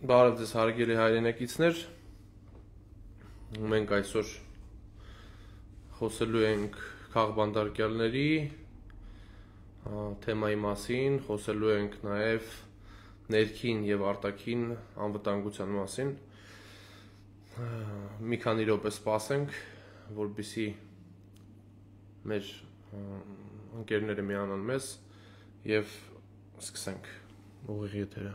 Բարև ձեզ հարգելի հայրենակիցներ, մենք այսօր խոսելու ենք քաղբանդարկյալների թեմայի մասին, խոսելու ենք նաև ներքին և արտաքին անվտանգության մասին, մի քանի րոպե սպասենք, որպեսզի մեր ընկերները միանան մեզ և սկսենք ուղիղ եթերը։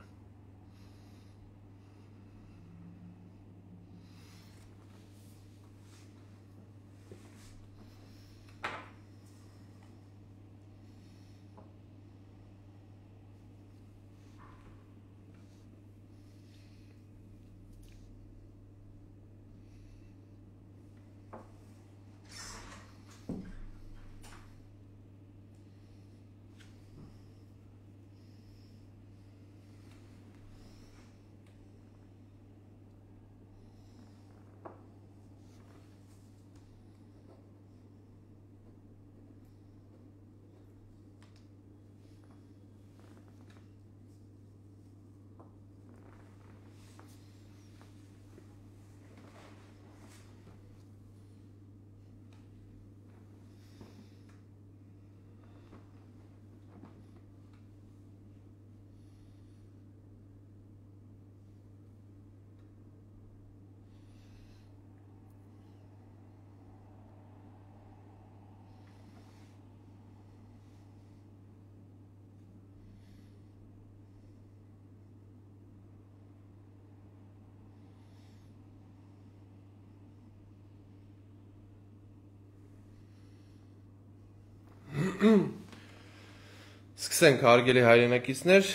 Սկսենք հարգելի հայրենակիցներ,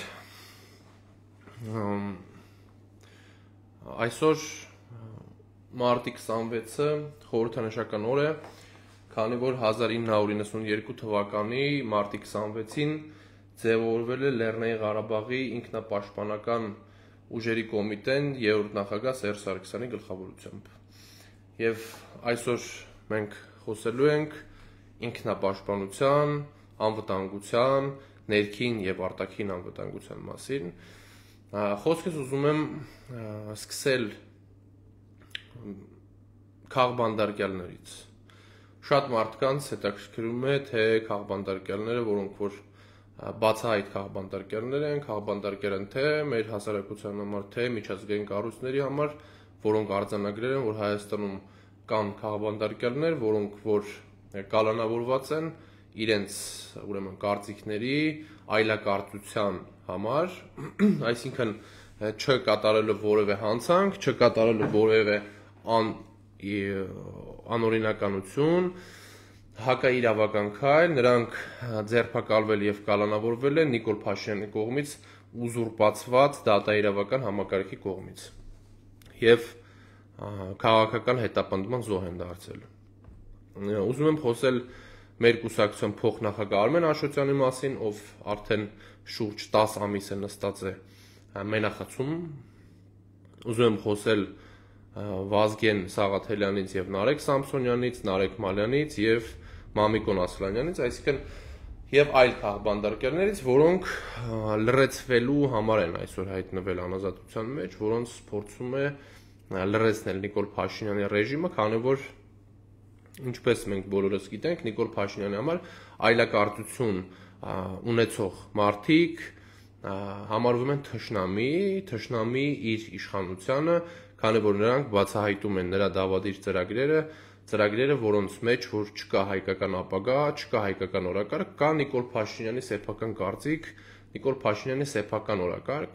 այսօր մարտի 26-ը խորհրդանշական օր է, քանի որ 1992 թվականի մարտի 26-ին ձևավորվել է Լեռնային Ղարաբաղի ինքնապաշտպանական ուժերի կոմիտեն 3-րդ նախագահ Սերժ Սարգսյանի գլխավորությամբ։ Եվ այսօր մենք խոսելու ենք ինքնապաշտպանության, անվտանգության, ներքին և արտաքին անվտանգության մասին։ Խոսքս ուզում եմ սկսել քաղբանդարկյալներից։ Շատ մարդկանց հետաքրքրում է, թե քաղբանդարկյալները, որոնք որ բացահայտ քաղբանդարկյալներ են, քաղբանդարկյալ են թե մեր հասարակության համար, թե միջազգային կառույցների համար, որոնք արձանագրել են, որ Հայաստանում կան քաղբանդարկյալներ, որոնք որ կալանավորված են իրենց ուրեմն կարծիքների այլակարծության համար, այսինքն չկատարելով որևէ հանցանք, չկատարելով որևէ անօրինականություն, հակաիրավական քայլ, նրանք ձերբակալվել և կալանավորվել են Նիկոլ Փաշինյանի կողմից ուզուրպացված դատաիրավական համակարգի կողմից և քաղաքական հետապնդման զոհ են դարձել։ Ուզում եմ խոսել մեր կուսակցության փոխնախագահ Արմեն Աշոտյանի մասին, ով արդեն շուրջ 10 ամիս է նստած է մենախցում։ Ուզում եմ խոսել Վազգեն Սաղաթելյանից և Նարեկ Սամսոնյանից, Նարեկ Մալյանից և Մամիկոն Ասլանյանից, այսինքն և այլ քաղբանդարկյալներից, որոնք լրացվելու համար են այսօր հայտնվել անազատության մեջ, որոնց փորձում է լրացնել Նիկոլ Փաշինյանի ռեժիմը, քանի որ ինչպես մենք բոլորս գիտենք, Նիկոլ Փաշինյանի համար այլակարծություն ունեցող մարդիկ համարվում են թշնամի իր իշխանությանը, քանի որ նրանք բացահայտում են նրա դավադիր ծրագրերը, որոնց մեջ որ չկա հայկական ապագա, չկա հայկական օրակարգ, կա Նիկոլ Փաշինյանի սեփական կարծիք, Նիկոլ Փաշինյանի սեփական օրակարգ։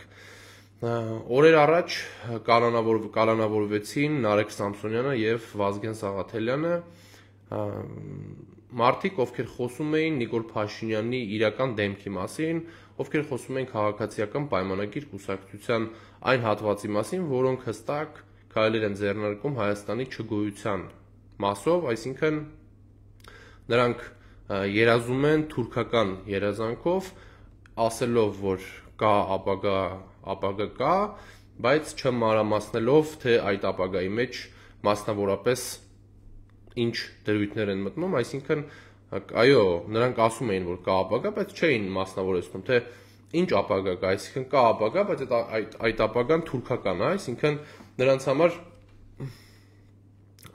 Օրեր առաջ կալանավորվեցին Նարեկ Սամսոնյանը և Վազգեն Սաղաթելյանը, մարդիկ, ովքեր խոսում էին Նիկոլ Փաշինյանի իրական դեմքի մասին, ովքեր խոսում էին քաղաքացիական պայմանագիր կուսակցության այն հատվածի մասին, որոնք հստակ քայլեր են ձեռնարկում Հայաստանի չգոյության մասով, այսինքն նրանք երազում են թուրքական երազանքով, ասելով, որ կա ապագա կա, բայց չմանրամասնելով, թե այդ ապագայի մեջ մասնավորապես ինչ դրույթներ են մտնում, այսինքն այո, նրանք ասում էին, որ կա ապագա, բայց չէին մասնավորեցնում, թե ինչ ապագա կա, այսինքն կա ապագա, բայց այդ ապագան թուրքական է, այսինքն նրանց համար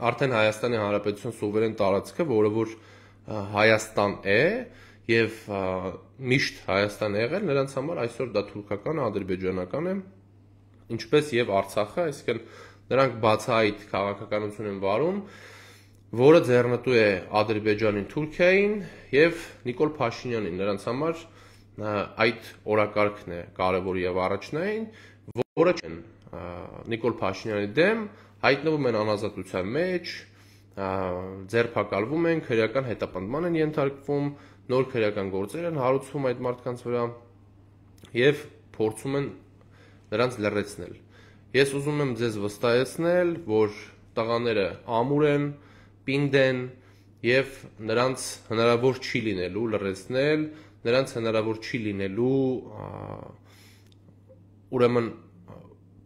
արդեն Հայաստանի Հանրապետության սուվերեն տարածքը, որը որ Հայաստան է եւ միշտ Հայաստան է եղել, նրանց համար այսօր դա թուրքական, ադրբեջանական է, ինչպես եւ Արցախը, այսինքն նրանք բացահայտ քաղաքականություն են վարում, որը ձեռնտու է Ադրբեջանին, Թուրքիային եւ Նիկոլ Փաշինյանին, նրանց համար այդ օրակարգն է կարևոր եւ առաջնային, որը չեն Նիկոլ Փաշինյանի դեմ հայտնվում են անազատության մեջ, ձերբակալվում են, քրեական հետապնդման են ենթարկվում, նոր քրեական գործեր են հարուցվում այդ մարդկանց վրա եւ փորձում են նրանց լրացնել։ Ես ուզում եմ ձեզ վստահեցնել, որ տղաները ամուր են, պինդ են եւ նրանց հնարավոր չի լինելու լրացնել, նրանց հնարավոր չի լինելու ուրեմն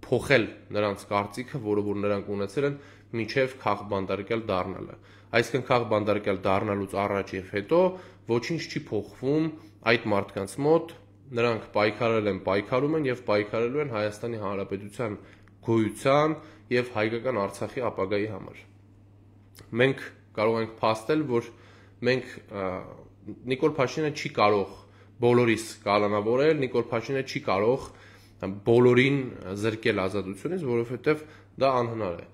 փոխել նրանց կարծիքը, որը որ նրանք ունեցել են մինչև քաղբանդարկյալ դառնալը։ Այսինքն քաղբանդարկյալ դառնալուց առաջ եւ հետո ոչինչ չի փոխվում այդ մարդկանց մոտ, նրանք պայքարել են, պայքարում են եւ պայքարելու են Հայաստանի Հանրապետության գոյության եւ հայկական Արցախի ապագայի համար։ Մենք կարող ենք փաստել, որ մենք Նիկոլ Փաշինյանը չի կարող բոլորիս կալանավորել, Նիկոլ Փաշինյանը չի կարող բոլորին զրկել ազատությունից, որովհետև դա անհնար է։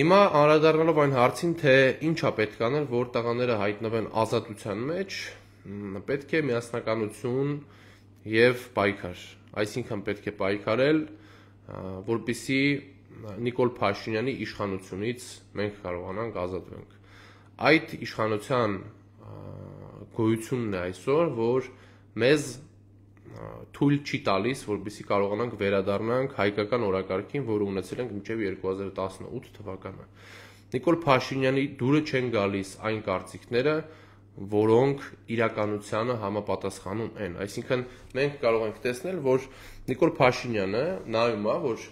Հիմա անդրադառնալով այն հարցին, թե ինչա պետք անել, որ տղաները հայտնվեն ազատության մեջ, պետք է միասնականություն եւ պայքար։ Այսինքն պետք է պայքարել, որպեսզի Նիկոլ Փաշինյանի իշխանությունից մենք կարողանանք ազատվենք։ Այդ իշխանության գոյությունն է այսօր, որ մեզ թույլ չի տալիս, որպեսզի կարողանանք վերադառնանք հայկական օրակարգին, որը ունեցել ենք մինչև 2018 թվականը։ Նիկոլ Փաշինյանի դուրը չեն գալիս այն կարծիքները, որոնք իրականությանը համապատասխանում են։ Այսինքն մենք կարող ենք տեսնել, որ Նիկոլ Փաշինյանը նայում է, որ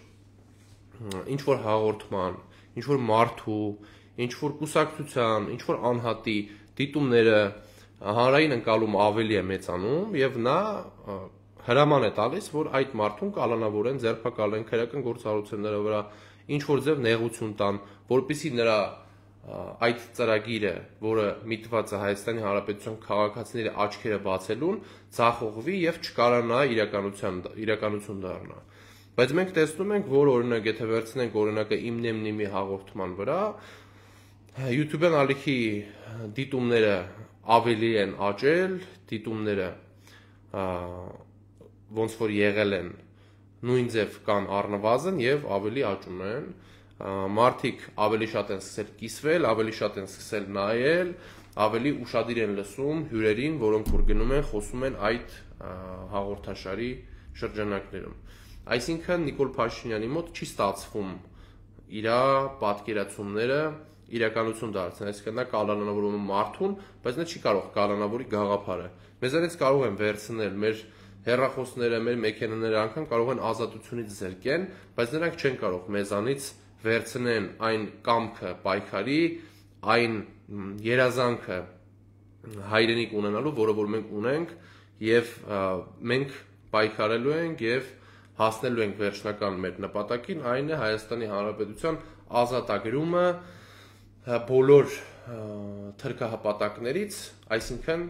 ինչ որ հաղորդման, ինչ որ մարդու, ինչ որ կուսակցության, ինչ որ անհատի դիտումները հանրային ընկալումը ավելի է մեծանում եւ նա հրաման է տալիս, որ այդ մարդուն կալանավորեն, ձերբակալեն, քրեական գործառույթների վրա ինչ որ ձև նեղություն տան, որպեսզի նրա այդ ծրագիրը, որը միտված է Հայաստանի Հանրապետության քաղաքացիների աչքերը բացելուն, ցախողվի եւ չկարանա իրականություն դառնա։ Բայց մենք տեսնում ենք, որ օրինակ եթե վերցնենք օրինակը Իմնեմնիմի հաղորդման վրա, YouTube-ն ալիքի դիտումները ավելի են աճել, դիտումները ոնց որ եղել են նույն ձև կան առնվազն եւ ավելի աճում են, մարդիկ ավելի շատ են սկսել կիսվել, ավելի շատ են սկսել նայել, ավելի ուշադիր են լսում հյուրերին, որոնք որ գնում են, խոսում են այդ հաղորդաշարի շրջանակներում։ Այսինքն Նիկոլ Փաշինյանի մոտ չի ստացվում իր պատկերացումները իրականություն դարձնել, այսինքն նա կալանավորում է մարդուն, բայց նա չի կարող կալանավորի գաղափարը։ Մեզանից կարող են վերցնել մեր հեռախոսները, մեր մեքենաները, անգամ կարող են ազատությունից զրկեն, բայց նրանք չեն կարող մեզանից վերցնեն այն կամքը պայքարի, այն երազանքը հայրենիք ունենալու, որը որ մենք ունենք, եւ մենք պայքարելու ենք եւ հասնելու ենք վերջնական մեր նպատակին, այն է Հայաստանի Հանրապետության ազատագրումը բոլոր թրքահպատակներից, այսինքն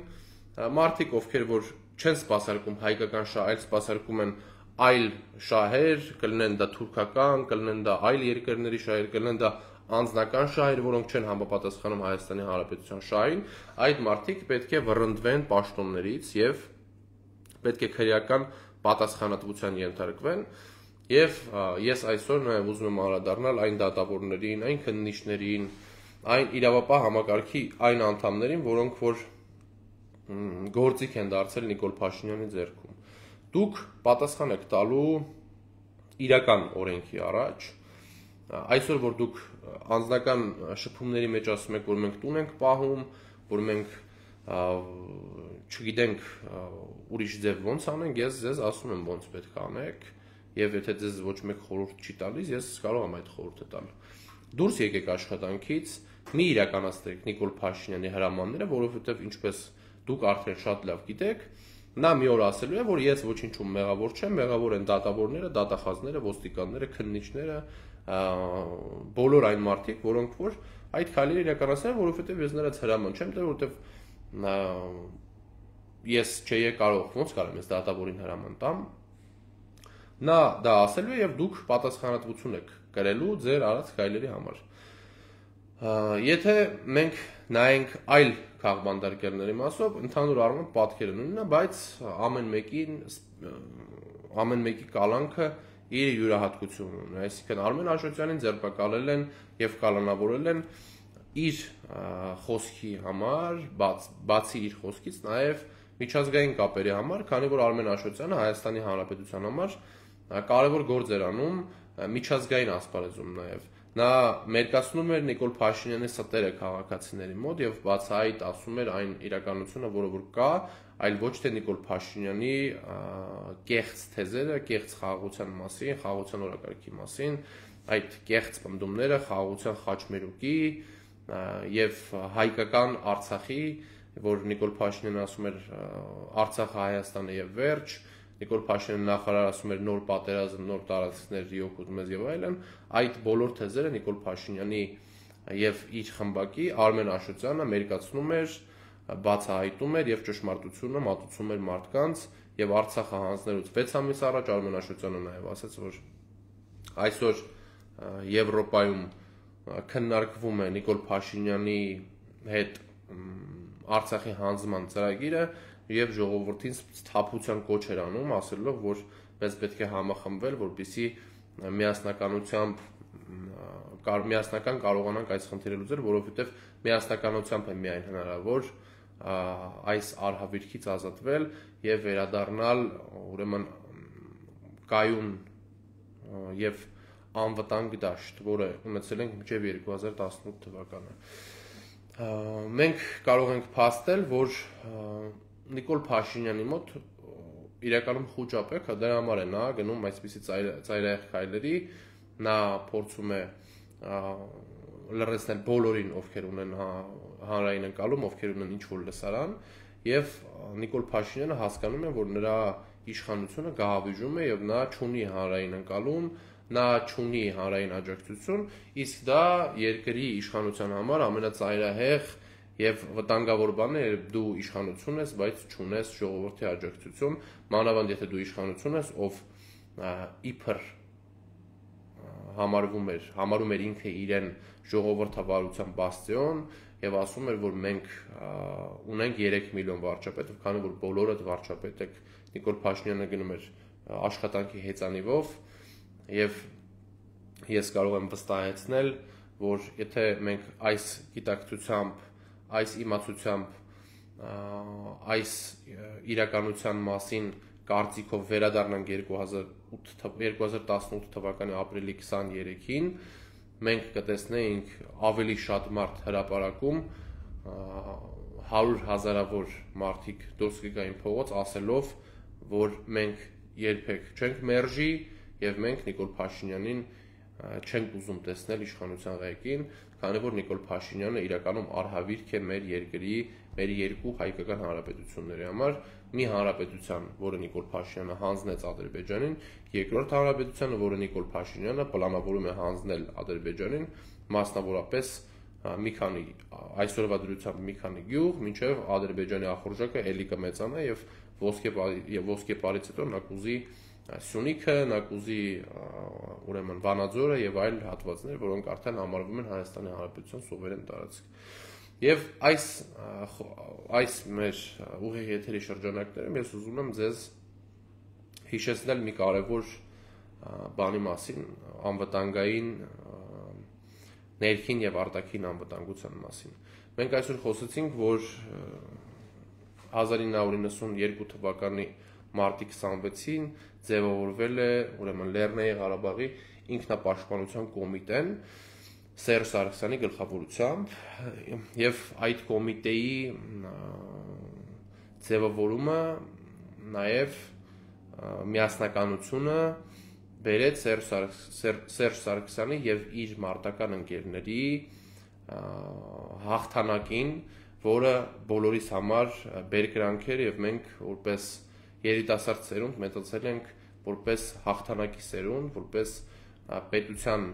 մարդիկ, ովքեր որ չեն սպասարկում հայկական շահ, այլ սպասարկում են այլ շահեր, կլինեն դա թուրքական, կլինեն դա այլ երկրների շահեր, կլինեն դա անձնական շահեր, որոնք չեն համապատասխանում Հայաստանի Հանրապետության շահին, այդ մարդիկ պետք է վռնդվեն պաշտոններից եւ պետք է քրեական պատասխանատվության ենթարկվեն եւ ես այսօր նաեւ ուզում եմ անդրադառնալ այն դատավորներին, այն քննիչներին, այն իրավապահ համակարգի այն անդամներին, որոնք որ գործիք են դարձել Նիկոլ Փաշինյանի ձեռքում։ Դուք պատասխան եք տալու իրական օրենքի առաջ։ Այսօր որ դուք անձնական շփումների մեջ ասում եք, որ մենք տուն ենք պահում, որ մենք չգիտենք ուրիշ ձև ոնց անենք, ես ձեզ ասում եմ ոնց պետք է անեք, եւ եթե ձեզ ոչ մեկ խորհուրդ չի տալիս, ես կարող եմ այդ խորհուրդը տալ։ Դուրս եկեք աշխատանքից, մի իրականացրեք Նիկոլ Փաշինյանի հրամանները, որովհետեւ ինչպես դուք արդեն շատ լավ գիտեք, Նա մի օր ասելու է, որ ես ոչինչում մեղավոր չեմ, մեղավոր են դատավորները, դատախազները, ոստիկանները, քննիչները, բոլոր այն մարդիկ, որոնք որ այդ քայլերը իրականացնել են, որովհետև ես նրանց հրաման չեմ տվել, որովհետև ես չէի կարող, ոնց կարող ես դատավորին հրաման տամ։ Նա դա ասելու է եւ դուք պատասխանատվություն եք կրելու ձեր արած քայլերի համար։ Եթե մենք նայենք այլ քաղբանդարկերների մասով, ընդհանուր առմամբ պատկերը նույնն է, բայց ամեն մեկի կալանքը իր յուրահատկությունն ունի։ Այսինքն Արմեն Աշոտյանին ձերբակալել են եւ կալանավորել են իր խոսքի համար, բացի իր խոսքից նաեւ միջազգային կապերի համար, քանի որ Արմեն Աշոտյանը Հայաստանի Հանրապետության համար կարևոր գործ էր անում միջազգային ասպարեզում նաեւ։ Նա մերկացնում էր Նիկոլ Փաշինյանի ստերը քաղաքացիների մոտ եւ բացահայտ ասում էր այն իրականությունը, որը որ կա, այլ ոչ թե Նիկոլ Փաշինյանի կեղծ թեզերը, կեղծ խաղաղության մասին, խաղաղության օրակարգի մասին, այդ կեղծ պնդումները խաղաղության խաչմերուկի եւ հայկական Արցախի, որ Նիկոլ Փաշինյանը ասում էր Արցախը Հայաստանը եւ վերջ, Նիկոլ Փաշինյանը նախարար ասում էր նոր պատերազմ, նոր տարածքներ յոկուտ մեզ եւ այլն, այդ բոլոր թեզերը Նիկոլ Փաշինյանի եւ իր խմբակի Արմեն Աշոտյանը մերկացնում էր, բացահայտում էր եւ ճշմարտությունը մատուցում էր մարդկանց եւ Արցախը հանձնելուց 6 ամիս առաջ Արմեն Աշոտյանը նաեւ ասաց, որ այսօր Եվրոպայում քննարկվում է Նիկոլ Փաշինյանի հետ Արցախի հանձնման ծրագիրը եւ ժողովրդին սթափության կոչ էր անում, ասելով, որ մեզ պետք է համախմբվել, որպեսզի միասնական կարողանանք այս խնդիրը լուծել, որովհետեւ միասնականությամբ է միայն հնարավոր այս արհավիրքից ազատվել եւ վերադառնալ ուրեմն կայուն եւ անվտանգ դաշտ, որը ունեցել ենք մինչեւ 2018 թվականը։ Մենք կարող ենք փաստել, որ Նիկոլ Փաշինյանի մոտ իրականում խոճապ է, դրա համար է նա գնում այսպիսի ծայրահեղ քայլերի, նա փորձում է լրացնել բոլորին, ովքեր ունեն հանրային ընկալում, ովքեր ունեն ինչ-որ լսարան, եւ Նիկոլ Փաշինյանը հասկանում է, որ նրա իշխանությունը գահավիժում է եւ նա չունի հանրային ընկալում, նա չունի հանրային աջակցություն, իսկ դա երկրի իշխանության համար ամենածայրահեղ եւ վտանգավոր բանն է, երբ դու իշխանություն ես, բայց չունես ժողովրդի աջակցություն, մանավանդ եթե դու իշխանություն ես, ով իբր համարում էր ինքը իրեն ժողովրդավարության բաստիոն եւ ասում էր, որ մենք ունենք 3 միլիոն վարչապետ, քանի որ բոլորդ վարչապետ եք, Նիկոլ Փաշինյանը գնում էր աշխատանքի հեծանիվով եւ ես կարող եմ վստահեցնել, որ եթե մենք այս գիտակցությամբ, այս իմացությամբ, այս իրականության մասին կարծիքով վերադառնանք 2018 թվականի ապրիլի 23-ին, մենք կտեսնեինք ավելի շատ մարդ հրապարակում, 100,000-ավոր մարդիկ դուրս կգային փողոց ասելով, որ մենք երբեք չենք մերժի եւ մենք Նիկոլ Փաշինյանին չենք ուզում տեսնել իշխանության ղեկին, քանի որ Նիկոլ Փաշինյանը իրականում արհավիրք է մեր երկրի, մեր երկու հայկական հանրապետությունների համար, մի հանրապետության, որը Նիկոլ Փաշինյանը հանձնեց Ադրբեջանին, երկրորդ հանրապետությանը, որը Նիկոլ Փաշինյանը պլանավորում է հանձնել Ադրբեջանին, մասնավորապես մի քանի այսօրվա դրությամբ մի քանի գյուղ, մինչև Ադրբեջանի ախորժակը ելի կմեծանա եւ ոսկեպարից հետո նա կուզի Սյունիքը, նա կուզի ուրեմն Վանաձորը եւ այլ հատվածներ, որոնք արդեն համարվում են Հայաստանի Հանրապետության սուվերեն տարածք։ Եվ այս մեր ուղիղ եթերի շրջանակներում ես ուզում եմ ձեզ հիշեցնել մի կարևոր բանի մասին, անվտանգային ներքին եւ արտաքին անվտանգության մասին։ Մենք այսօր խոսեցինք, որ 1992 թվականի մարտի 26-ին ձևավորվել է ուրեմն Լեռնային Ղարաբաղի ինքնապաշտպանության կոմիտեն Սերժ Սարգսյանի գլխավորությամբ եւ այդ կոմիտեի ձևավորումը նաեւ միասնականությունը բերեց Սերժ Սարգսյանի եւ իր մարտական ընկերների հաղթանակին, որը բոլորիս համար բերկրանք էր եւ մենք որպես երիտասարդ սերունդ մեծացել ենք որպես հաղթանակի սերունդ, որպես պետության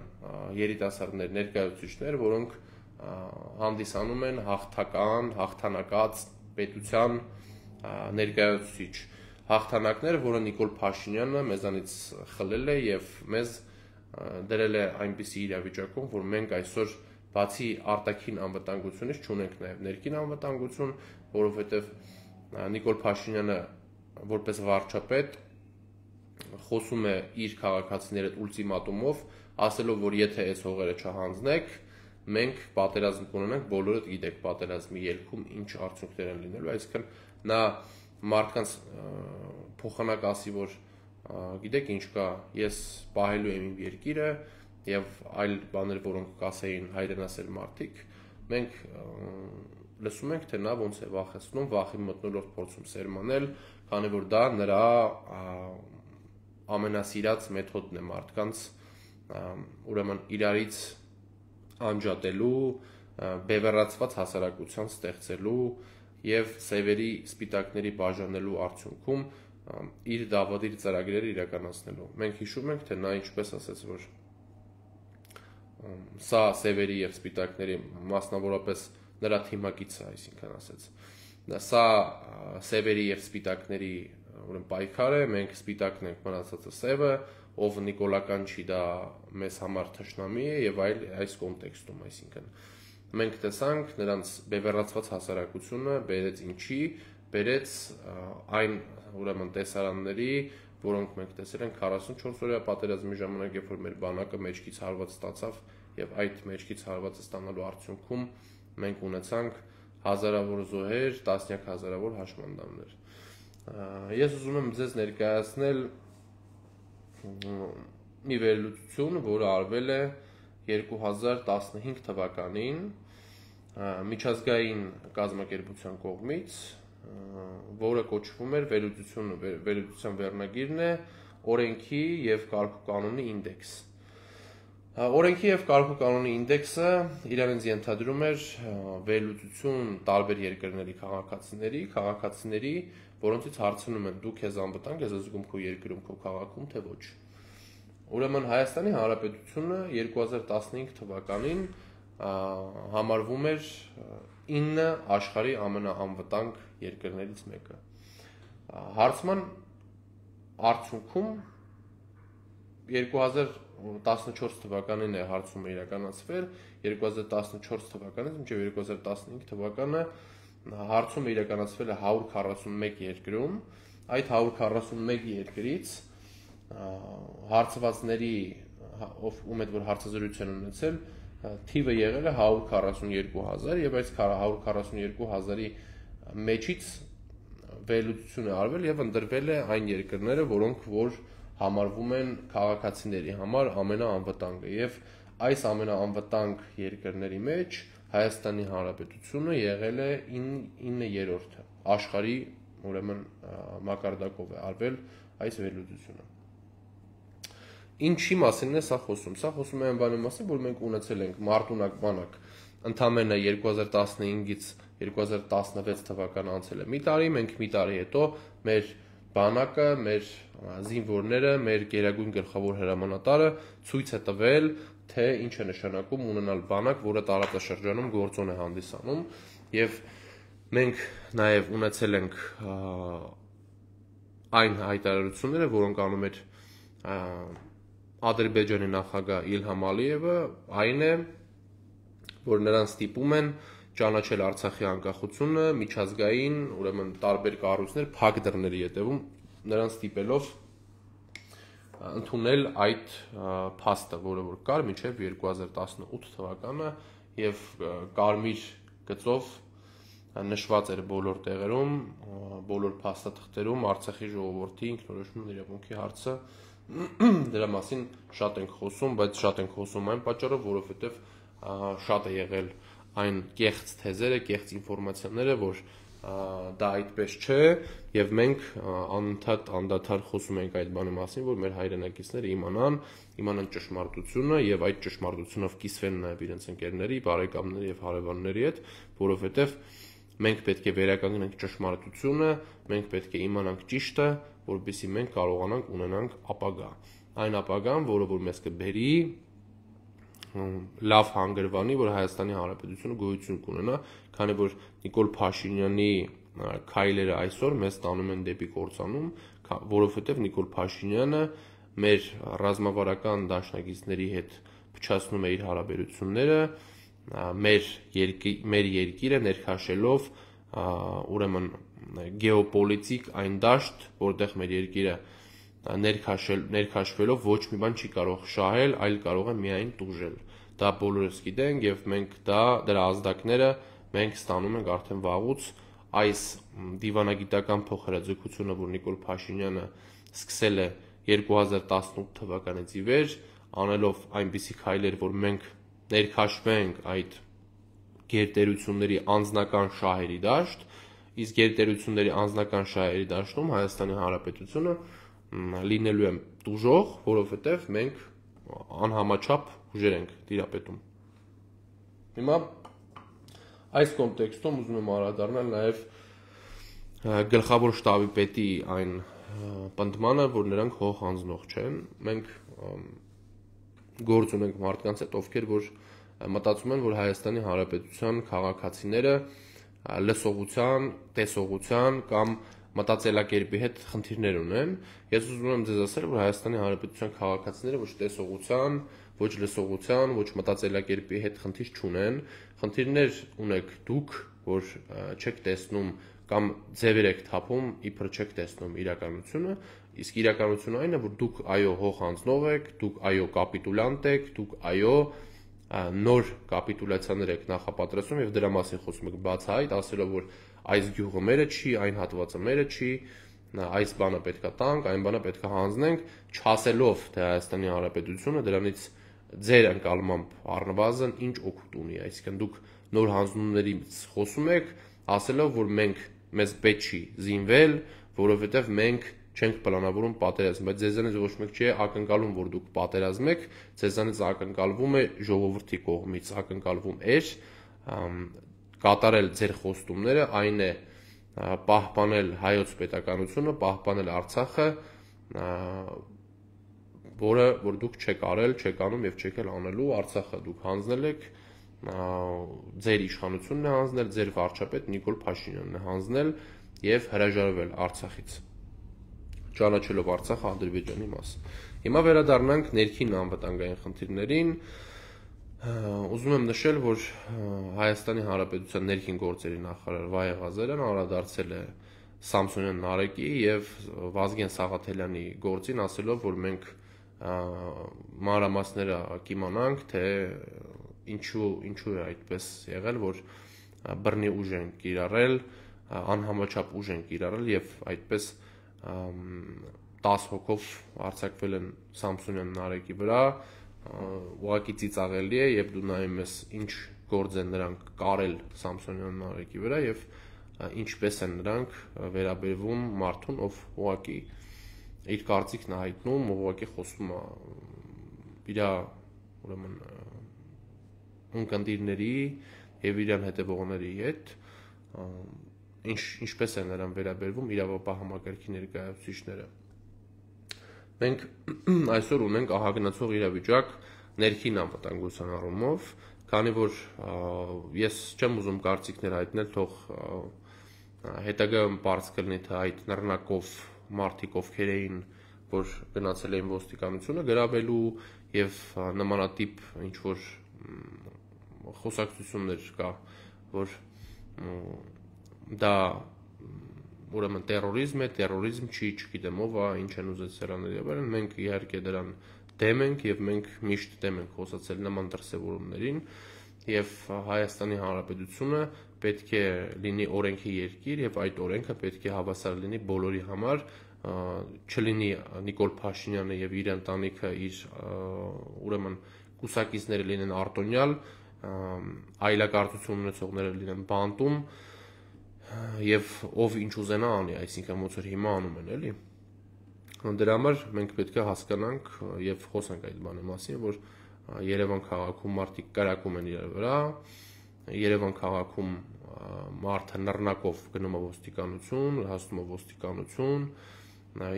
երիտասարդներ, ներկայացուցիչներ, որոնք հանդիսանում են հաղթական, հաղթանակած պետության ներկայացուցիչ հաղթանակներ, որը Նիկոլ Փաշինյանը մեզանից խլել է եւ մեզ դրել է այնպիսի իրավիճակում, որ մենք այսօր բացի արտաքին անվտանգությունից չունենք նաեւ ներքին անվտանգություն, որովհետեւ Նիկոլ Փաշինյանը որպես վարչապետ խոսում է իր քաղաքացիների հետ ուլտիմատումով, ասելով, որ եթե այս հողերը չհանձնեք, մենք պատերազմ կունենանք, բոլորդ գիտեք պատերազմի ելքում ինչ արդյունքներ են լինելու, այսինքն նա մարդկանց փոխանակ ասի, որ գիտեք ինչ կա, ես պահելու եմ իմ երկիրը եւ այլ բաներ, որոնք կասեին հայրենասեր մարդիկ, մենք լսում ենք, թե նա ոնց է վախեցնում, վախի մթնոլորտ փորձում սերմանել, քանի որ դա նրա ամենասիրած մեթոդն է մարդկանց ուրեմն իրարից անջատելու, բևեռացված հասարակության ստեղծելու եւ սևերի սպիտակների բաժանելու արդյունքում իր դավադիր ծրագրերը իրականացնելու։ Մենք հիշում ենք, թե նա ինչպես ասաց, որ սա սևերի եւ սպիտակների մասնավորապես նրա թիմակիցը, այսինքն ասաց, սա սևերի եւ սպիտակների ուրեմն պայքար է, մենք սպիտակն ենք, մնացածը սևը, ով նիկոլական չի, դա մեզ համար թշնամի է եւ այլ այս կոնտեքստում, այսինքն մենք տեսանք նրանց բևեռացված հասարակությունը բերեց ինչի, բերեց այն ուրեմն տեսարանների, որոնք մենք տեսել ենք 44 օրյա պատերազմի ժամանակ, երբ որ մեր բանակը մեջքից հարված ստացավ եւ այդ մեջքից հարվածը ստանալու արդյունքում մենք ունեցանք հազարավոր զոհեր, տասնյակ հազարավոր հաշմանդամներ։ Ես ուզում եմ ձեզ ներկայացնել մի վերլուծություն, որը արվել է 2015 թվականին միջազգային կազմակերպության կողմից, որը կոչվում էր վերլուծության վերնագիրն է օրենքի եւ կարգուկանոնի ինդեքս։ Օրենքի եւ կարգուկանոնի ինդեքսը իրենից ենթադրում էր վերլուծություն տարբեր երկրների քաղաքացիների, որոնցից հարցնում են դու քեզ անվտանգ ես զգում քո երկրում, քո քաղաքում, թե ոչ։ Ուրեմն Հայաստանի Հանրապետությունը 2015 թվականին համարվում էր 9 աշխարհի ամենաանվտանգ երկրներից մեկը։ Հարցման արդյունքում 2014 թվականին է հարցումը իրականացվել, 2014 թվականից մինչև 2015 թվականը հարցումը իրականացվել է 141 երկրում, այդ 141 երկրից հարցվածների ում հետ որ հարցազրույց են ունեցել, թիվը եղել է 142,000 եւ այս 142,000-ի մեջից վերլուծություն է արվել եւ ընտրվել է այն երկրները, որոնք որ համարվում են քաղաքացիների համար ամենաանվտանգը եւ այս ամենաանվտանգ երկրների մեջ Հայաստանի Հանրապետությունը եղել է 9-րդը աշխարհի ուրեմն մակարդակով է արվել այս վերլուծությունը։ Ինչի մասին է սա խոսում։ Սա խոսում է այն բանի մասին, որ մենք ունեցել ենք մարտունակ բանակ ընդամենը 2015-ից 2016 թվական անցել է մի տարի, մենք մի տարի հետո մեր բանակը, մեր զինվորները, մեր գերագույն գլխավոր հրամանատարը ցույց է տվել, թե ինչ է նշանակում ունենալ բանակ, որը տարածաշրջանում գործոն է հանդիսանում, եւ մենք նաեւ ունեցել ենք այն հայտարարությունները, որոնք անում էր Ադրբեջանի նախագահ Իլհամ Ալիևը, այն է, որ նրան ստիպում են ճանաչել Արցախի անկախությունը միջազգային, ուրեմն տարբեր կառույցներ փակ դռների հետևում նրան ստիպելով ընդունել այդ փաստը, որը որ կար մինչև 2018 թվականը եւ կարմիր գծով նշված էր բոլոր տեղերում, բոլոր փաստաթղթերում Արցախի ժողովրդի ինքնորոշում իրավունքի հարցը դրա մասին շատ ենք խոսում, բայց շատ ենք խոսում այն պատճառով, որովհետեւ շատ է եղել այն կեղծ թեզերը, կեղծ ինֆորմացիաները, որ դա այդպես չէ եւ մենք անընդհատ անդադար խոսում ենք այդ բանի մասին, որ մեր հայրենակիցները իմանան ճշմարտությունը եւ այդ ճշմարտությունով կիսվեն նաեւ իրենց ընկերների, բարեկամների եւ հարևանների հետ, որովհետեւ մենք պետք է վերականգնենք ճշմարտությունը, մենք պետք է իմանանք ճիշտը, որպեսզի մենք կարողանանք ունենանք ապագա։ Այն ապագան, որը որ մեզ կբերի լավ հանգրվանի, որ Հայաստանի Հանրապետությունը գոյություն կունենա, քանի որ Նիկոլ Փաշինյանի քայլերը այսօր մեզ տանում են դեպի կործանում, որովհետև Նիկոլ Փաշինյանը մեր ռազմավարական դաշնակիցների հետ փչացնում է իր հարաբերությունները, մեր երկիրը ներքաշելով ուրեմն գեոպոլիտիկ այն դաշտ, որտեղ մեր երկիրը ներքաշվելով ոչ մի բան չի կարող շահել, այլ կարող է միայն տուժել։ Դա բոլորս գիտենք եւ մենք դրա ազդակները մենք ստանում ենք արդեն վաղուց այս դիվանագիտական փոխհրաձգությունը, որ Նիկոլ Փաշինյանը սկսել է 2018 թվականից ի վեր, անելով այնպիսի քայլեր, որ մենք ներքաշվենք այդ գերտերությունների անձնական շահերի դաշտ, իսկ գերտերությունների անձնական շահերի դաշտում Հայաստանի Հանրապետությունը լինելու է տուժող, որովհետև մենք անհամաչափ ուժեր ենք տիրապետում։ Հիմա այս կոնտեքստում ուզում եմ անդրադառնալ նաև գլխավոր շտաբի պետի այն պնդմանը, որ նրանք հող հանձնող չեն։ Մենք գործ ունենք մարդկանց հետ, ովքեր որ մտածում են, որ Հայաստանի Հանրապետության քաղաքացիները լսողության, տեսողության կամ մտածելակերպի հետ խնդիրներ ունեն։ Ես ուզում եմ ձեզ ասել, որ Հայաստանի Հանրապետության քաղաքացիները ոչ տեսողության, ոչ լսողության, ոչ մտածելակերպի հետ խնդիր չունեն։ Խնդիրներ ունեք դուք, որ չեք տեսնում կամ ձևեր եք թափում, իբր չեք տեսնում իրականությունը, իսկ իրականությունը այն է, որ դուք այո հող հանձնող եք, դուք այո կապիտուլյանտ եք, դուք այո նոր կապիտուլյացիաներ եք նախապատրաստում եւ դրա մասին խոսում եք բացահայտ, ասելով որ այս գյուղը մերը չի, այն հատվածը մերը չի, այս բանը պետքա տանք, այն բանը պետքա հանձնենք, չասելով թե Հայաստանի Հանրապետությունը դրանից ձեր ընկալմամբ առնվազն ինչ օգուտ ունի, այսինքն դուք նոր հանձնումներից խոսում եք, ասելով որ մեզ պետք չի զինվել, որովհետև մենք չենք պլանավորում պատերազմ, բայց ձեզանից ոչ մեկ չի ակնկալում, որ դուք պատերազմեք, ձեզանից ակնկալվում է ժողովրդի կողմից, ակնկալվում էր կատարել ձեր խոստումները, այն է պահպանել հայոց պետականությունը, պահպանել Արցախը, որը որ դուք չեք արել, չեք անում եւ չեք էլ անելու, Արցախը դուք հանձնել եք, ձեր իշխանությունն է հանձնել, ձեր վարչապետ Նիկոլ Փաշինյանն է հանձնել եւ հրաժարվել Արցախից, ճանաչելով Արցախը Ադրբեջանի մաս։ Հիմա վերադառնանք ներքին անվտանգային խնդիրներին։ Ուզում եմ նշել, որ Հայաստանի Հանրապետության ներքին գործերի նախարար Վահե Ղազարյանն անդրադարձել է Սամսոնյան Նարեկի եւ Վազգեն Սաղաթելյանի գործին, ասելով, որ մենք մանրամասները կիմանանք, թե ինչու է այդպես եղել, որ բռնի ուժ են կիրառել, անհամաչափ ուժ են կիրառել եւ այդպես 10 հոգով արձակվել են Սամսոնյան Նարեկի վրա, ուղղակի ծիծաղելի է, եւ դու նայում ես ինչ գործ են նրանք կարել Սամսոնյան Նարեկի վրա եւ ինչպես են նրանք վերաբերվում մարդուն, ով ուղղակի իր կարծիքն է հայտնում, ուղղակի խոսում է իր ուրեմն ունկնդիրների եւ իրան հետևողների հետ, ինչպես են նրան վերաբերվում իրավապահ համակարգի ներկայացուցիչները։ Մենք այսօր ունենք ահագնացող իրավիճակ ներքին անվտանգության առումով, քանի որ ես չեմ ուզում կարծիքներ հայտնել, թող հետագայում պարզ կլինի, թե այդ նռնակով մարդիկ ովքեր էին, որ գնացել էին ոստիկանությունը գրավելու եւ նմանատիպ ինչ որ խոսակցություններ կա, որ դա ուրեմն տերորիզմ է, տերորիզմ չի, չգիտեմ ով է, ինչ են ուզեցել անել եւ այլն, մենք իհարկե դրան դեմ ենք եւ մենք միշտ դեմ ենք խոսացել նման դրսեւորումներին եւ Հայաստանի Հանրապետությունը պետք է լինի օրենքի երկիր եւ այդ օրենքը պետք է հավասար լինի բոլորի համար, չլինի Նիկոլ Փաշինյանը եւ իր ընտանիքը իր ուրեմն կուսակիցները լինեն արտոնյալ, այլակարծություն ունեցողները լինեն բանտում եւ ով ինչ ուզենա անի, այսինքն ոնց որ հիմա անում են, էլի։ Դրա համար մենք պետք է հասկանանք եւ խոսանք այդ բանի մասին, որ Երևան քաղաքում մարդիկ կրակում են իրար վրա, Երևան քաղաքում մարդը նռնակով գնում է ոստիկանություն, հասնում է ոստիկանություն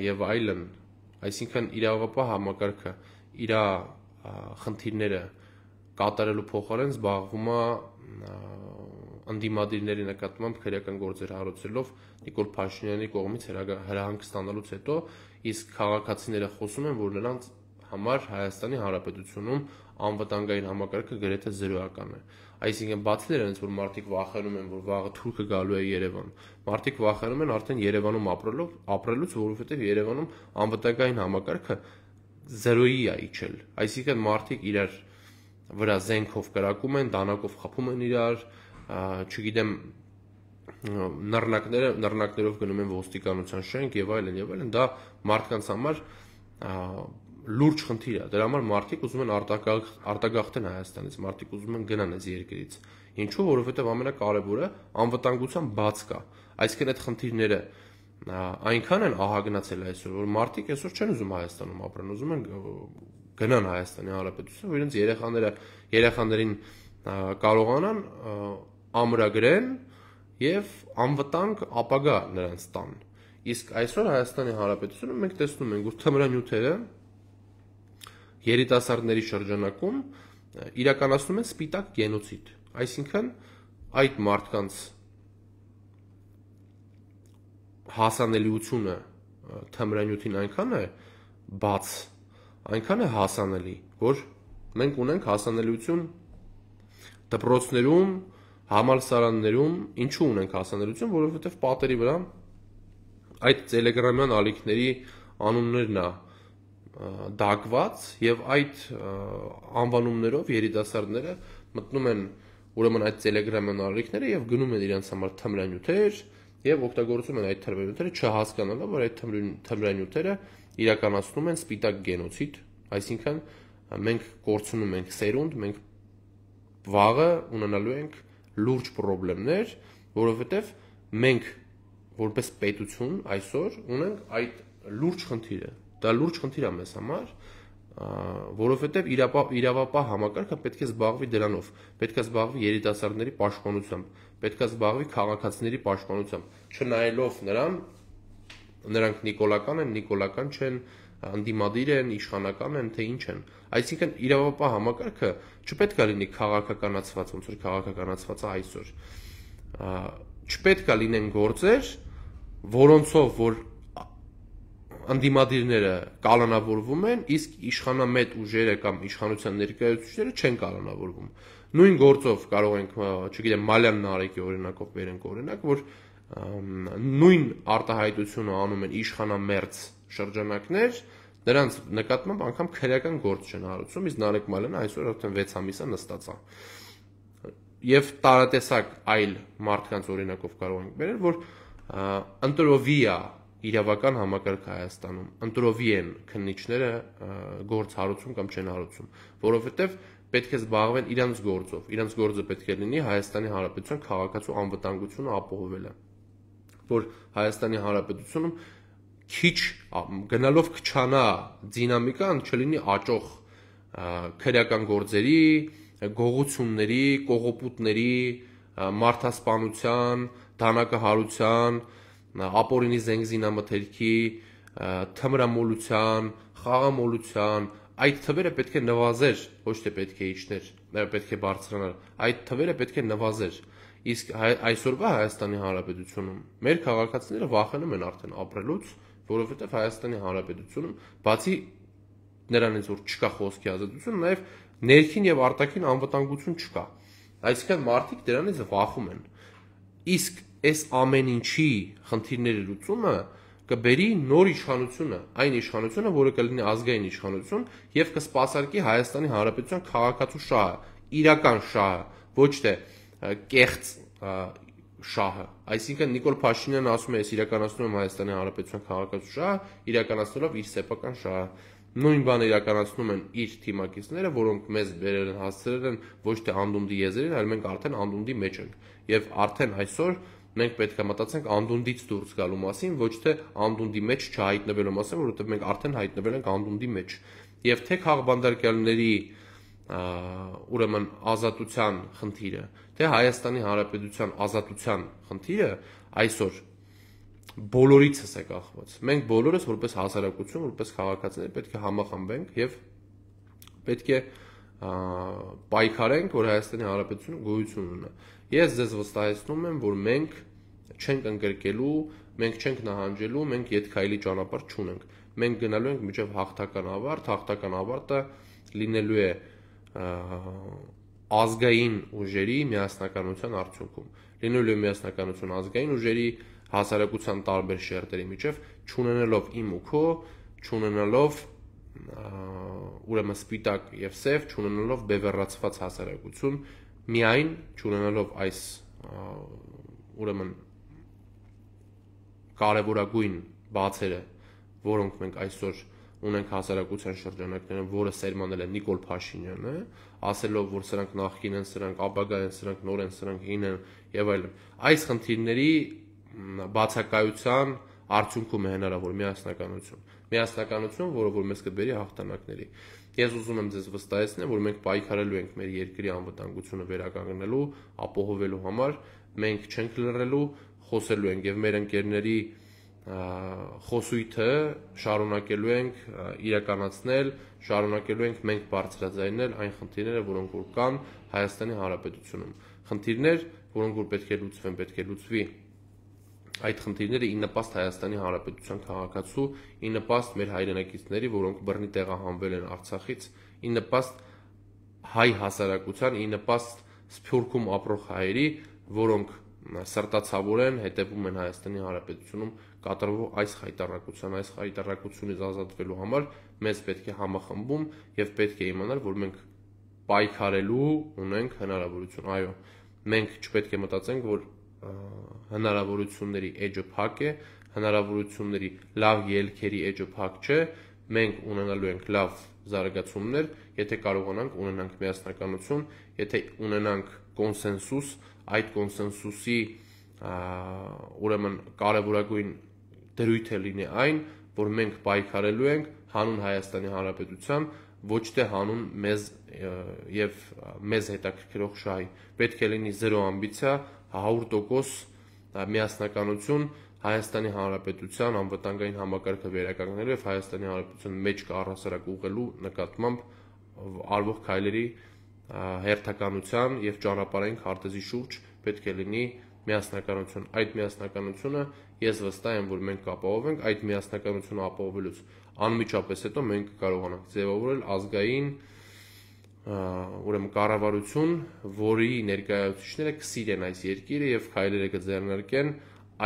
եւ այլն, այսինքն իրավապահ համակարգը իր խնդիրները կատարելու փոխարեն զբաղվում է ընդդիմադիրների նկատմամբ քրեական գործեր հարուցելով Նիկոլ Փաշինյանի կողմից հրահանգ ստանալուց հետո, իսկ քաղաքացիները խոսում են, որ նրանց համար Հայաստանի Հանրապետությունում անվտանգային համակարգը գրեթե զրոյական է։ Այսինքն բացի դրանից, որ մարդիկ վախենում են, որ վաղը թուրքը գալու է Երևան, մարդիկ վախենում են արդեն Երևանում ապրելուց, որովհետև Երևանում անվտանգային համակարգը զրոյի է իջել։ Այսինքն մարդիկ իրար վրա զենքով կրակում են, դանակով խփում են իրար, չգիտեմ, նռնակներով գնում են ոստիկանության շենք եւ այլն, դա մարդկանց համար լուրջ խնդիր է։ Դրա համար մարդիկ ուզում են արտագաղթեն Հայաստանից, մարդիկ ուզում են գնան այս երկրից։ Ինչու՞, որովհետև ամենակարևորը անվտանգության բաց կա։ Այսինքն այդ խնդիրները այնքան են ահագնացել այսօր, որ մարդիկ այսօր չեն ուզում Հայաստանում ապրեն, ուզում են գնան Հայաստանի Հանրապետություն, որ իրենց երեխաներին կարողանան ամրագրեն եւ անվտանգ ապագա նրանց տան։ Իսկ այսօր Հայաստանի Հանրապետությունում մենք տեսնում ենք, որ թմրանյութերը երիտասարդների շրջանակում իրականացնում են սպիտակ գենոցիդ, այսինքն այդ մարդկանց հասանելիությունը թմրանյութին այնքան է բաց, այնքան է հասանելի, որ մենք ունենք հասանելիություն դպրոցներում, համալսարաններում, ինչու ունենք հասանելիություն, որովհետև պատերի վրա այդ տելեգրամյան ալիքների անուններն է դակված եւ այդ անվանումներով երիտասարդները մտնում են ուրեմն այդ տելեգրամյան ալիքները եւ գնում են իրենց համար թմրանյութեր եւ օգտագործում են այդ թմրանյութերը չհասկանալով, որ այդ թմրանյութերը իրականացնում են սպիտակ գենոցիդ, այսինքն մենք կորցնում ենք սերունդ, մենք վաղը ունենալու ենք լուրջ խնդիրներ, որովհետեւ մենք որպես պետություն այսօր ունենք այդ լուրջ խնդիրը։ Դա լուրջ խնդիր է մեզ համար, որովհետև իրավապահ համակարգը պետք է զբաղվի դրանով, պետք է զբաղվի երիտասարդների պաշտպանությամբ, պետք է զբաղվի քաղաքացիների պաշտպանությամբ, չնայելով նրանք նիկոլական չեն, ընդդիմադիր են, իշխանական են, թե ինչ են։ Այսինքն իրավապահ համակարգը չպետք է լինի քաղաքականացված, ոնց որ քաղաքականացված է այսօր։ Չպետք է լինեն գործեր, որոնցով որ ընդդիմադիրները կալանավորվում են, իսկ իշխանամետ ուժերը կամ իշխանության ներկայացուցիչները չեն կալանավորվում։ Նույն գործով կարող ենք, չգիտեմ, Մալյան Նարեկի օրինակով բերենք օրինակ, որ նույն արտահայտությունը անում են իշխանամերձ շրջանակներ, նրանց նկատմամբ անգամ քրեական գործ չեն հարուցում, իսկ Նարեկ Մալյանը այսօր արդեն 6 ամիս է նստած է։ Եվ տարատեսակ այլ մարդկանց օրինակով կարող ենք բերել, որ ընտրովի է իրավական համակարգ Հայաստանում, ընտրովի են քննիչները գործ հարուցում կամ չեն հարուցում, որովհետև պետք է զբաղվեն իրենց գործով, իրենց գործը պետք է լինի Հայաստանի Հանրապետության քաղաքացու անվտանգությունը ապահովելը, որ Հայաստանի Հանրապետությունում քիչ գնալով քչանա դինամիկան, չլինի աճող քրեական գործերի, գողությունների, կողոպուտների, մարդասպանության, դանակահարության, ապօրինի զենգզինամթերքի, թմրամոլության, խաղամոլության, այդ թվերը պետք է նվազեր, ոչ թե պետք է իջներ, պետք է բարձրանար, այդ թվերը պետք է նվազեր, իսկ այսօրվա Հայաստանի Հանրապետությունում մեր քաղաքացիները վախենում են արդեն ապրելուց, որովհետև Հայաստանի Հանրապետությունում բացի նրանից որ չկա խոսքի ազատություն, նաև ներքին եւ արտաքին անվտանգություն չկա, այսինքն մարդիկ դրանից վախում են, իսկ այս ամեն ինչի խնդիրների լուծումը կբերի նոր իշխանությունը, այն իշխանությունը, որը կլինի ազգային իշխանություն եւ կսպասարկի Հայաստանի Հանրապետության քաղաքացու շահը, իրական շահը, ոչ թե կեղծ շահը։ Այսինքն Նիկոլ Փաշինյանը ասում է, ես իրականացնում եմ Հայաստանի Հանրապետության քաղաքացու շահը, իրականացնելով իր սեփական շահը։ Նույն բանը իրականացնում են իր թիմակիցները, որոնք մեզ բերել են, հասցրել են ոչ թե անդունդի եզերին, այլ մենք արդեն անդունդի մեջ ենք։ Եվ արդեն այսօր մենք պետք է մտածենք անդունդից դուրս գալու մասին, ոչ թե անդունդի մեջ չհայտնվելու մասին, որովհետև մենք արդեն հայտնվել ենք անդունդի մեջ։ Եվ թե Խաղբանդարկյանների ուրեմն ազատության խնդիրը, թե Հայաստանի Հանրապետության ազատության խնդիրը այսօր բոլորիցս է կախված։ Մենք բոլորս որպես հասարակություն, որպես քաղաքացիներ պետք է համախմբենք եւ պետք է պայքարենք, որ Հայաստանի Հանրապետությունը գոյություն ունենա։ Ես ձեզ վստահեցնում եմ, որ մենք չենք ընկրկելու, մենք չենք նահանջելու, մենք ետքայլի ճանապարհ չունենք։ Մենք գնալու ենք մինչև հաղթական ավարտ, հաղթական ավարտը լինելու է ազգային ուժերի միասնականության արդյունքում։ Լինելու է միասնականություն ազգային ուժերի հասարակության տարբեր շերտերի միջև, չունենալով իմ ու քո, չունենալով ուրեմն սպիտակ եւ սև, չունենալով բևեռացված հասարակություն, միայն չունենալով այս ուրեմն կարևորագույն բացերը, որոնք մենք այսօր ունենք հասարակության շրջանակներում, որը սերմանել է Նիկոլ Փաշինյանը, ասելով, որ սրանք նախկին են, սրանք ապագա են, սրանք նոր են, սրանք հին են եւ այլն։ Այս խնդիրների բացակայության արդյունքում է հնարավոր միասնականություն, որը որ մեզ կբերի հաղթանակների։ Ես ուզում եմ ձեզ վստահեցնել, որ մենք պայքարելու ենք մեր երկրի անվտանգությունը վերականգնելու, ապահովելու համար, մենք չենք լռելու, խոսելու ենք եւ մեր ընկերների խոսույթը շարունակելու ենք իրականացնել, շարունակելու ենք մենք բարձրաձայնել այն խնդիրները, որոնք որ կան Հայաստանի Հանրապետությունում։ Խնդիրներ, որոնք որ պետք է լուծվեն, պետք է լուծվի այդ խնդիրները ի նպաստ Հայաստանի Հանրապետության քաղաքացու, ի նպաստ մեր հայրենակիցների, որոնք բռնի տեղահանվել են Արցախից, ի նպաստ հայ հասարակության, ի նպաստ Սփյուռքում ապրող հայերի, որոնք սրտացավոր են, հետևում են Հայաստանի Հանրապետությունում կատարվող այս խայտառակությունից ազատվելու համար մեզ պետք է համախմբում եւ պետք է իմանալ, որ մենք պայքարելու ունենք հնարավորություն։ Այո, մենք չպետք է մտածենք, որ հնարավորությունների էջը փակ է, հնարավորությունների լավ ելքերի էջը փակ չէ, մենք ունենալու ենք լավ զարգացումներ, եթե կարողանանք ունենանք միասնականություն, եթե ունենանք կոնսենսուս, այդ կոնսենսուսի ուրեմն կարևորագույն դրույթը լինի այն, որ մենք պայքարելու ենք հանուն Հայաստանի Հանրապետության, ոչ թե հանուն մեզ եւ մեզ հետաքրքրող շահի։ Պետք է լինի 0 ամբիցիա, 100% միասնականություն Հայաստանի Հանրապետության անվտանգային համակարգը վերականգնելու եւ Հայաստանի Հանրապետության մեջ առհասարակ ուղղելու նկատմամբ արվող քայլերի հերթականության եւ ճանապարհային քարտեզի շուրջ պետք է լինի միասնականություն։ Այդ միասնականությունը ես վստահ եմ, որ մենք կապահովենք, այդ միասնականությունը ապահովելուց անմիջապես հետո մենք կարողանանք ձևավորել ազգային ուրեմն կառավարություն, որի ներկայացուցիչները կսիրեն այս երկիրը եւ քայլերը կձեռնարկեն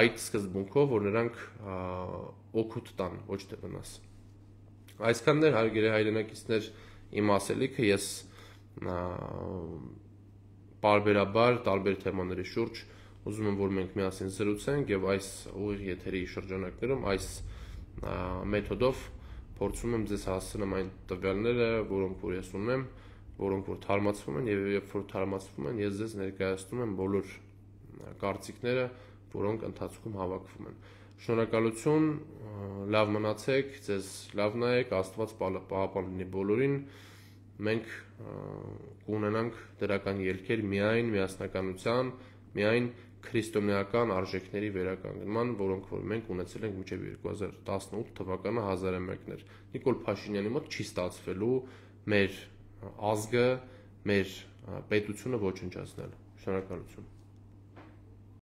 այդ սկզբունքով, որ նրանք օգուտ տան, ոչ թե վնաս։ Այսքաններ հարգելի հայրենակիցներ, իմ ասելիքը, ես պարբերաբար տարբեր թեմաների շուրջ ուզում եմ, որ մենք միասին զրուցենք եւ այս ուղիղ եթերի շրջանակներում այս մեթոդով փորձում եմ ձեզ հասցնեմ այն տվյալները, որոնք որ ես ունեմ, որոնք որ թարմացվում են եւ երբ որ թարմացվում են, ես ձեզ ներկայացնում եմ բոլոր կարծիքները, որոնք ընթացքում հավաքվում են։ Շնորհակալություն, լավ մնացեք, ձեզ լավ նայեք, Աստված պահապան լինի բոլորին։ Մենք կունենանք դրական ելքեր միայն միասնականության, միայն քրիստոնեական արժեքների վերականգնման, որոնք որ մենք ունեցել ենք մինչև 2018 թվականը 1001-ներ։ Նիկոլ Փաշինյանի մոտ չի ստացվելու մեր ազգը, մեր պետությունը ոչնչացնել։ Շնորհակալություն։